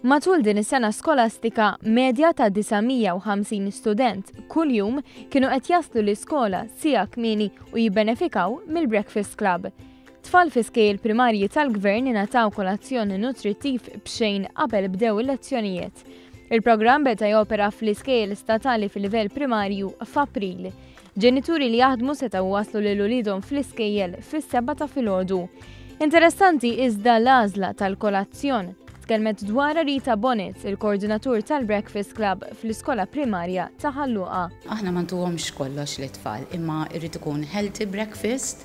Matul din is-sena skolastika, medja ta' 950 student kuljum kienu qed jaslu l-iskola siegħa kmieni u jibbenefikaw mill-Breakfast Club. Tfal fi skejjel primarji tal-Gvern ingħataw kolazzjon nutrittiv b'xejn qabel bdew il-lezzjonijiet. Il-programm beda jopera fl-iskejjel statali fil-livell primarju f'April. Ġenituri li jaħdmu setgħu waslu lil uliedhom fl-iskejjel fis-sebgħa ta' filgħodu. Interessanti iżda l-għażla tal-kolazzjon. Tkellmet dwarha Rita Bonnet, il-koordinatur tal-Breakfast Club fl-iskola primarja ta' Ħal Luqa. Aħna ma ntuhomx kollox lit-tfal, imma jrid ikun healthy breakfast,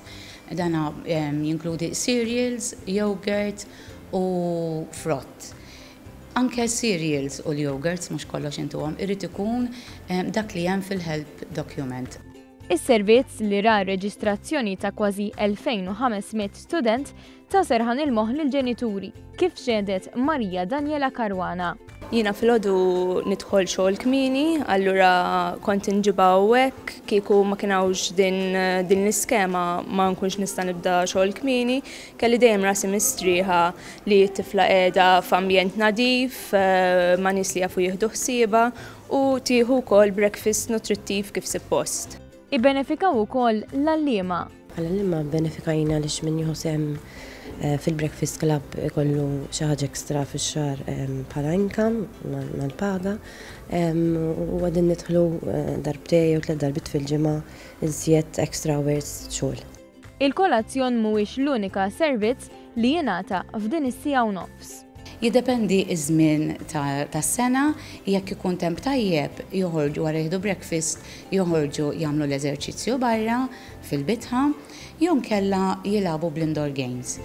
dana jinkludi cereals, yogurt u frott. Anke cereals u l-yogurts mhux kollox intuhom, irid ikun dak li hemm fil-help document. Is-servizz, li ra r-reġistrazzjoni ta' kważi 2,500 student, ta serħan il-moħħ lill-ġenituri, kif xehdet Maria Daniela Caruana. Jiena filgħodu nidħol xogħol kmieni, allura kont inġibha hawnhekk, kieku ma kien hawnx din din l-iskema ma nkunx nista' nibda xogħol kmieni, kelli dejjem rasi mistrieħa li t-tifla qiegħda f'ambjent nadif, ma' nies li jafu jieħdu ħsiebha u tieħu wkoll breakfast nutrittiv kif suppost. Ibbenefikaw ukoll l-għalliema. Bħala għalliema bbenefikajna għaliex min jieħu sehem fil-breakfast club ikollu xi ħaġa extra fix-xahar bħala income mal-paga u qegħdin nidħlu darbtejn jew tlett darbiet fil-ġimgħa iżjed extra hours xogħol. Il-kolazzjon mhuwiex l-unika servizz li jingħata f'din is-siegħa u nofs. Jiddependi ż-żmien tas-sena, jekk ikun temp tajjeb joħorġu wara jieħdu breakfast joħorġu jagħmlu l-eżerċizzju barra fil-bitħa jew inkella jilagħbu bl-indoor games.